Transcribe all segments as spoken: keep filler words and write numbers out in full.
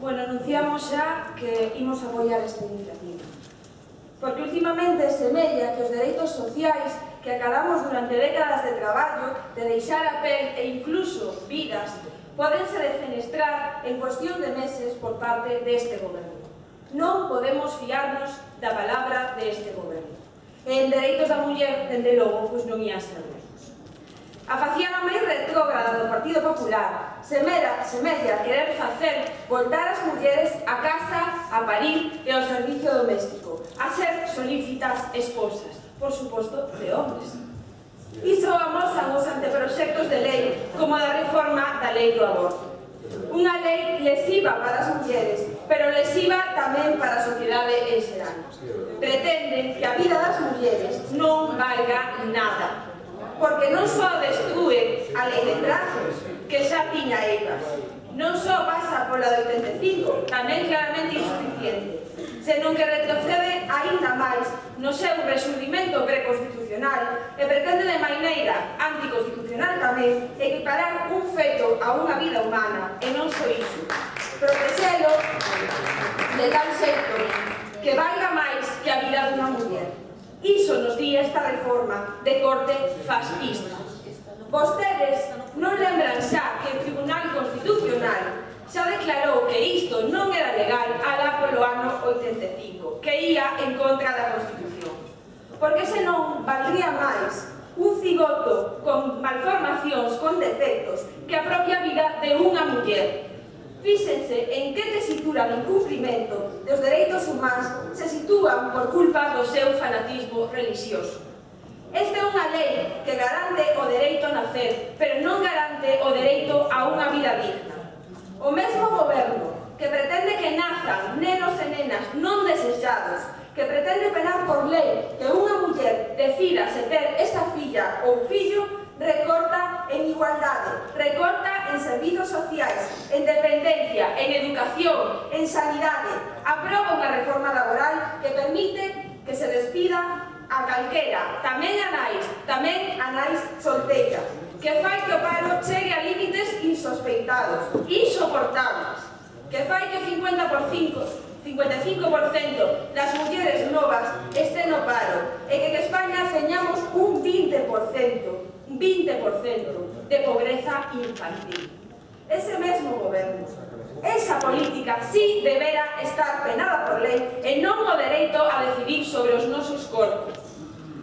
Bueno, anunciamos xa que imos apoiar esta iniciativa. Porque últimamente semella que os dereitos sociais que acadamos durante décadas de traballo, de deixar a pel e incluso vidas, podense defenestrar en cuestión de meses por parte deste goberno. Non podemos fiarnos da palabra deste goberno. E en dereitos da muller, dende logo, pois non ia ser menos. A faciana máis retrógrada do Partido Popular semella, semella querer facer voltar as mulleres a casa, a parir e ao servicio doméstico, a ser solícitas esposas, por suposto, de hombres. Iso amosan os anteproxectos de lei como a da reforma da lei do aborto. Unha lei lesiva para as mulleres, pero lesiva tamén para a sociedade en xeral. Pretende que a vida das mulleres non valga nada, porque non só destrúe a lei de prazos, que xa tiña ela, non só pasa pola de oitenta e cinco, tamén claramente insuficiente, senón que retrocede aínda máis no seu resurdimento preconstitucional e pretende de maneira anticonstitucional tamén equiparar un feto a unha vida humana, e non só iso, protexelo de tal xeito que valga máis que a vida dunha muller. Iso nos di esta reforma de corte fascista. Vostedes non lembran xa que o Tribunal Constitucional xa declarou que isto non era legal alá polo ano oitenta e cinco, que ia en contra da Constitución. Porque senón valdría máis un cigoto con malformacións, con defectos, que a propia vida de unha muller. Fíxense en que tesitura do incumprimento dos dereitos humanos se sitúan por culpa do seu fanatismo religioso. Esta é unha lei que garante o dereito a nacer, pero non garante o dereito a unha vida digna. O mesmo goberno que pretende que nazan nenos e nenas non desexados, que pretende penar por lei que unha muller decida se ter esa filla ou fillo, recorta en igualdade, recorta en servizos sociais, en dependencia, en educación, en sanidade, aproba unha reforma laboral que permite que se despida a calquera, tamén a nais, tamén a nais solteiras, que fai que o paro chegue a límites insospeitados, insoportables, que fai que o cincuenta por cinco, cincuenta e cinco por cento das mulleres novas estén no paro e que en España teñamos un vinte por cento, vinte por cento de pobreza infantil. Ese mesmo goberno, esa política sí debera estar penada por lei e non o dereito a decidir sobre os nosos corpos.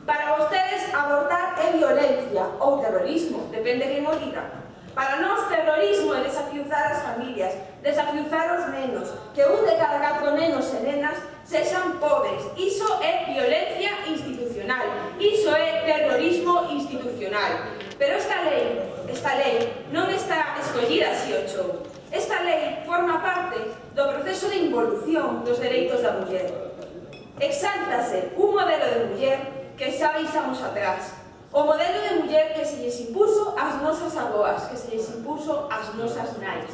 Para vostedes, abortar é violencia ou terrorismo, depende quen o diga. Para nós, terrorismo é desafiuzar as familias, desafiuzar os nenos, que un de cada catro nenos e nenas sexan pobres. Iso é violencia institucional, iso é terrorismo institucional. Pero esta lei, esta lei non está escollida así o chou. Esta lei forma parte do proceso de involución dos dereitos da muller. Exáltase un modelo de muller que xa deixamos atrás. O modelo de muller que se lles impuso ás nosas aboas, que se lles impuso ás nosas nais.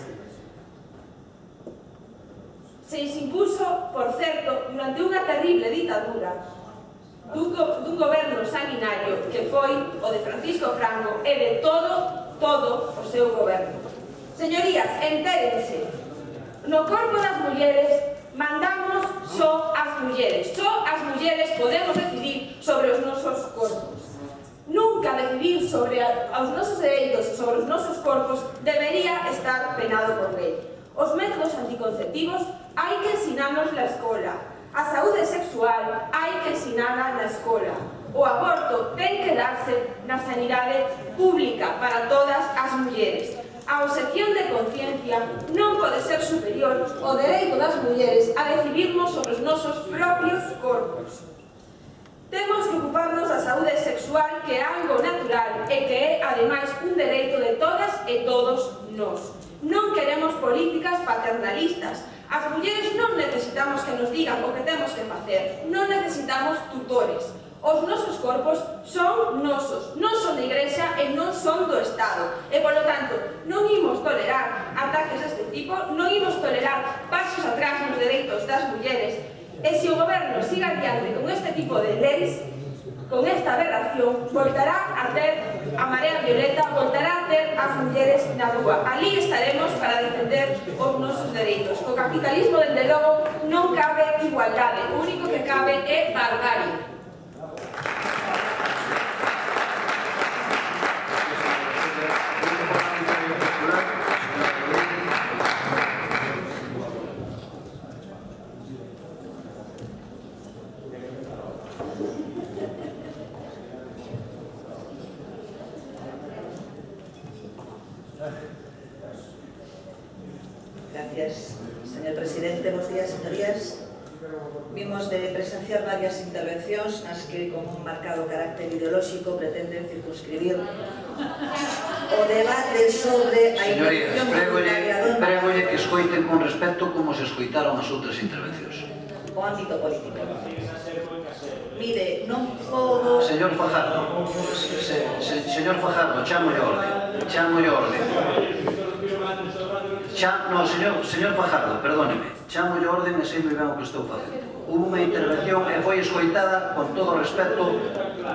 Se lles impuso, por certo, durante unha terrible ditadura dun, go dun goberno sanguinario que foi o de Francisco Franco e de todo, todo o seu goberno. Señorías, entérense, no corpo das mulleres mandamos só as mulleres, só as mulleres podemos decidir sobre os nosos corpos. Nunca decidir sobre os nosos dereitos e sobre os nosos corpos debería estar penado por lei. Os métodos anticonceptivos hai que ensinarnos na escola. A saúde sexual hai que ensinarla na escola. O aborto ten que darse na sanidade pública para todas as mulleres. A obxección de conciencia non pode ser superior ao dereito das mulleres a decidirnos sobre os nosos propios corpos. Temos que ocuparnos da saúde sexual, que é algo natural e que é, ademais, un dereito de todas e todos nós. Non queremos políticas paternalistas. As mulleres non necesitamos que nos digan o que temos que facer. Non necesitamos tutores. Os nosos corpos son nosos, non son de Igrexa e non son do Estado. E, polo tanto, non imos tolerar ataques deste tipo, non imos tolerar pasos atrás nos dereitos das mulleres. E se o goberno siga adiante con este tipo de leis, Con esta aberración, voltará a ter a Marea Violeta, voltará a ter as mulleres na rúa. Ali estaremos para defender os nosos dereitos. Co capitalismo, dende logo, non cabe igualdade. O único que cabe é barbarie. Gracias, señor presidente. Bos días, señorías. Vimos de presenciar varias intervencións nas que, con un marcado carácter ideolóxico, pretenden circunscribir o debate sobre a intervención voluntariadora. Prégolle que escoiten con respecto como se escoitaron as outras intervencións. O ámbito político. Mire, non podo... Señor Fajardo, se, se, señor Fajardo, chamo de orde, chamo de orde. Cha, no, señor, señor Fajardo, perdóneme, chamo de orden e sei moi ben o que estou facendo. Hubo unha intervención e foi escoitada con todo o respeto,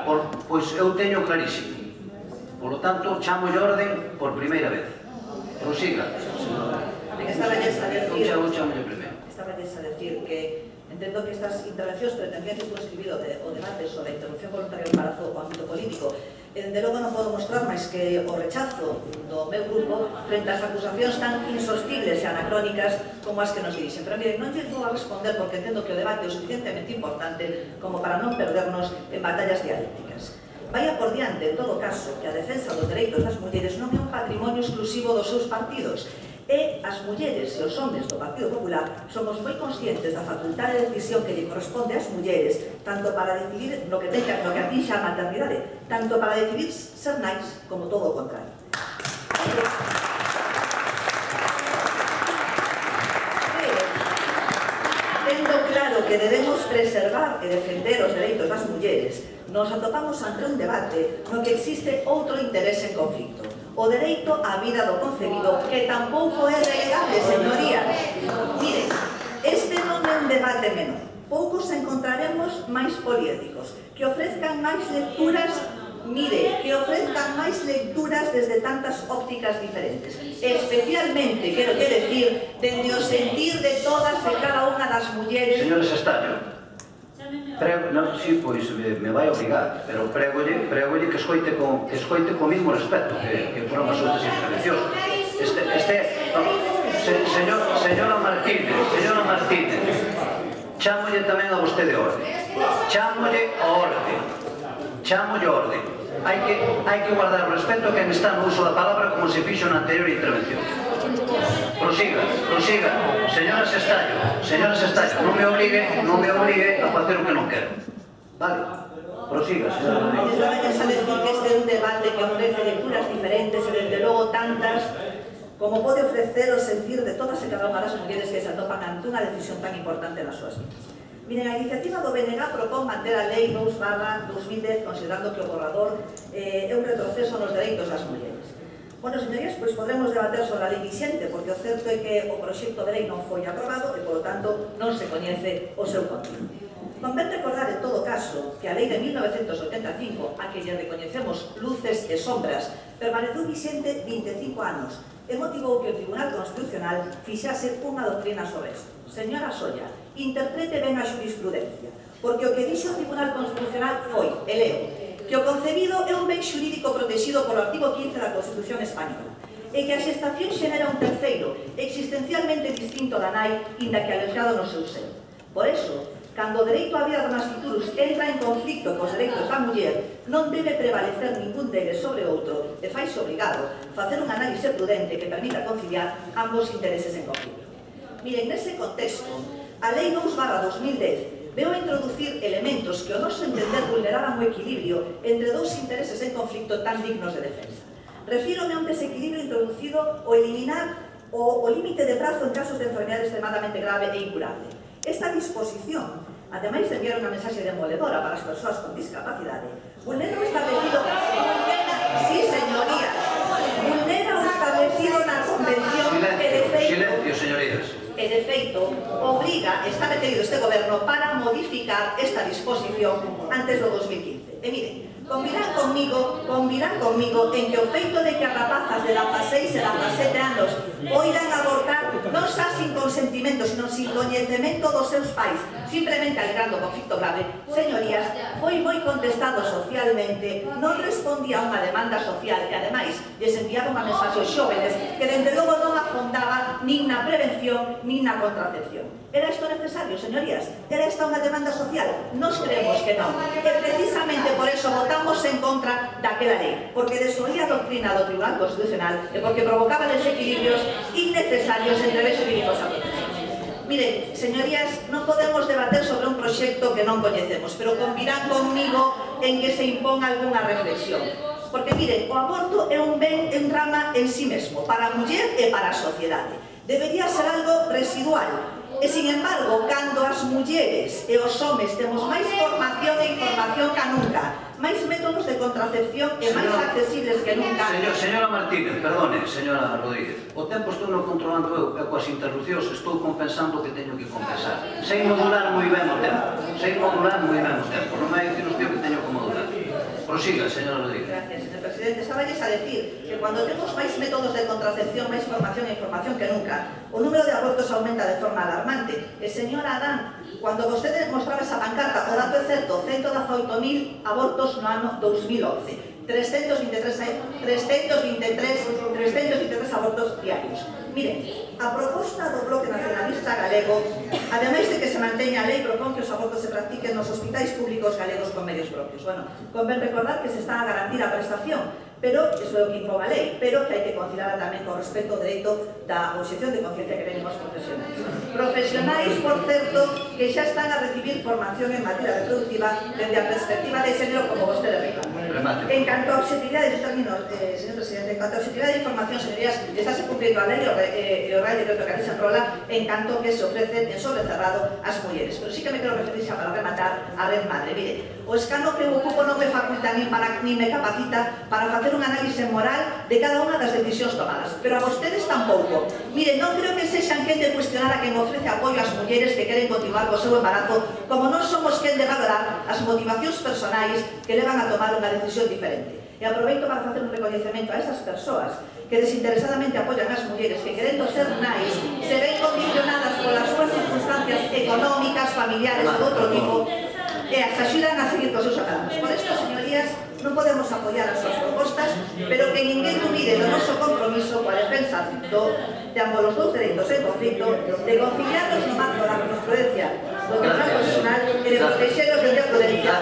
por, pois eu teño clarísimo. Por lo tanto, chamo de orden por primeira vez. Prosiga. Estaba a decir, chamo, chamo de primeiro. Estaba a decir que entendo que estas intervencións pretendían circunscribir o debate sobre a interrupción voluntaria do embarazo ao ámbito político. E, dende logo, non podo mostrar máis que o rechazo do meu grupo frente ás acusacións tan insostibles e anacrónicas como as que nos dirixen. Pero, miren, non lle vou a responder porque entendo que o debate é o suficientemente importante como para non perdernos en batallas dialécticas. Vaya por diante, en todo caso, que a defensa dos dereitos das mulleres non é un patrimonio exclusivo dos seus partidos. E as mulleres e os homens do Partido Popular somos moi conscientes da facultade de decisión que lle corresponde ás mulleres, tanto para decidir no que teña, no que atinxa a maternidade, tanto para decidir ser nais como todo o contrario. Tendo claro que debemos preservar e defender os dereitos das mulleres, nos atopamos ante un debate no que existe outro interese en conflicto. O dereito á vida do concebido, que tampouco é relegable, señorías. Miren, este non é un debate menor. Poucos encontraremos máis poliédricos, que ofrezcan máis lecturas, mire, que ofrezcan máis lecturas desde tantas ópticas diferentes. Especialmente, quero que decir, dende o sentir de todas e cada unha das mulleres... Señores Estaño, prego, non, sí, pois me, me vai obrigar, pero pregolle, pregolle que escoite con, que escoite con mismo respeto que, que foron as outras intervencións. Este, este, no, se, señor, señora Martínez, señora Martínez, chámolle tamén a vostede orde, chámolle a orde, chámolle a orde. Hai que, hai que guardar o respeto a quen está no uso da palabra como se fixo na anterior intervención. Prosiga, prosiga, señora Sestaño, señora Sestaño, non me obligue, non me obligue a facer o que non quero. Vale? Prosiga, señora Rodríguez. Estaba a decir que este é un debate que ofrece lecturas diferentes e, desde logo, tantas como pode ofrecer o sentir de todas e cada unha das mulleres que se atopan ante unha decisión tan importante nas súas vidas. Miren, a iniciativa do B N G propón manter a lei dous barra dos mil dez, considerando que o borrador eh, é un retroceso nos dereitos das mulleres. Bueno, señorías, pois podremos debater sobre a lei vixente, porque o certo é que o proxecto de lei non foi aprobado e, polo tanto, non se coñece o seu contido. Convén recordar, en todo caso, que a lei de mil novecentos oitenta e cinco, a que lle recoñecemos luces e sombras, permaneceu vixente vinte e cinco anos e motivou que o Tribunal Constitucional fixase unha doctrina sobre isto. Señora Solla, interprete ben a xurisprudencia, porque o que dixo o Tribunal Constitucional foi, e leo, que o concebido é un ben xurídico protegido polo artigo quince da Constitución Española e que a xestación xenera un terceiro, existencialmente distinto da nai, inda que alexado no seu seno. Por eso, cando o dereito á vida do nasciturus entra en conflicto cos dereitos da muller, non debe prevalecer ningún deles sobre outro e faise obrigado facer un análise prudente que permita conciliar ambos intereses en conflicto. Miren, nese contexto, a lei dous barra dos mil dez veo a introducir elementos que, ao noso entender, vulneraban o equilibrio entre dous intereses en conflicto tan dignos de defensa. Refírome a un desequilibrio introducido o eliminar o, o límite de prazo en casos de enfermedade extremadamente grave e incurable. Esta disposición, ademais de enviar unha mensaxe demoledora para as persoas con discapacidade, vulnera o establecido... Vulnera, sí, señoría, vulnera o establecido na Convención que Silencio, señorías. E, de feito, obriga, está metido este goberno para modificar esta disposición antes do dos mil quince. E miren, convirán conmigo, convirán conmigo en que o feito de que as rapazas de dezaseis e dezasete anos poidan abortar non xa sin consentimento, sino sin coñecemento dos seus pais, simplemente alegrando o conflicto grave, señorías, foi moi contestado socialmente, non respondía a unha demanda social e, ademais, lles enviaba unha mensaxe aos xóvenes que, dende logo, non afondaba nin na prevención nin na contracepción. Era isto necesario, señorías? Era esta unha demanda social? Nos creemos que non. E precisamente por eso votamos en contra daquela lei, porque desoía a doctrina do Tribunal Constitucional e porque provocaba desequilibrios innecesarios entre bens jurídicos a protección. Miren, señorías, non podemos debater sobre un proxecto que non coñecemos, pero convirán conmigo en que se imponga algunha reflexión. Porque, miren, o aborto é un ben, un drama en sí mesmo, para a muller e para a sociedade. Debería ser algo residual. E, sin embargo, cando as mulleres e os homes temos máis formación e información que nunca, máis métodos de contracepción e máis accesibles que nunca... Señor, señora Martínez, perdone, señora Rodríguez, o tempo estou non controlando eu, e coas interrupcións estou compensando o que teño que compensar. Sei modular moi ben o tempo, sei modular moi ben o tempo, non me hai dicir usted que teño que modular. Prosiga, señora Rodríguez. Gracias, señor presidente. Estáballes a decir que cando temos máis métodos de contracepción, máis formación e información que nunca, o número de abortos aumenta de forma alarmante. E, señora Adán, cando vostede mostraba esa pancarta, o dato é certo, ciento dezaoito mil abortos no ano dos mil once. trescentos vinte e tres abortos diarios. Miren, a proposta do Bloque Nacionalista Galego, ademais de que se manteña a lei, propón que os abortos se practiquen nos hospitais públicos galegos con medios propios. Bueno, convén recordar que se está a garantir a prestación, pero, iso é o que impón a lei, pero que hai que considerar tamén con respecto ao dereito da obxección de conciencia que teñen os profesionais. Profesionais, por certo, que xa están a recibir formación en materia reproductiva desde a perspectiva de xénero, como vostede reclama. En canto a objetividade, de términos, eh, señor presidente, en canto a objetividade de información, señorías, estáse cumplindo a lei e o Real Decreto que ali se enrola, en canto que se ofrece en sobre cerrado ás mulleres. Pero sí que me quero referir xa para rematar a Red Madre. Mire, o escano que eu ocupo non me faculta nin, para, nin me capacita para facer un análise moral de cada unha das decisións tomadas, pero a vostedes tampouco. Mire, non creo que sexan quen de cuestionar a quen ofrece apoio ás mulleres que queren continuar co seu embarazo, como non somos quen de valorar as motivacións personais que levan a tomar unha decisión diferente. E aproveito para facer un recoñecemento a esas persoas que desinteresadamente apoian as mulleres que, querendo ser nais, se ven condicionadas polas súas circunstancias económicas, familiares ou de outro tipo, e as axudan a seguir cos seus acados. Por isto, señorías, non podemos apoiar as súas propostas, pero que ninguén dubide do noso compromiso coa defensa do, de ambos os dous dereitos en conflicto, de conciliarnos no marco da jurisprudencia do Tribunal Constitucional e de proteger os de prudencia.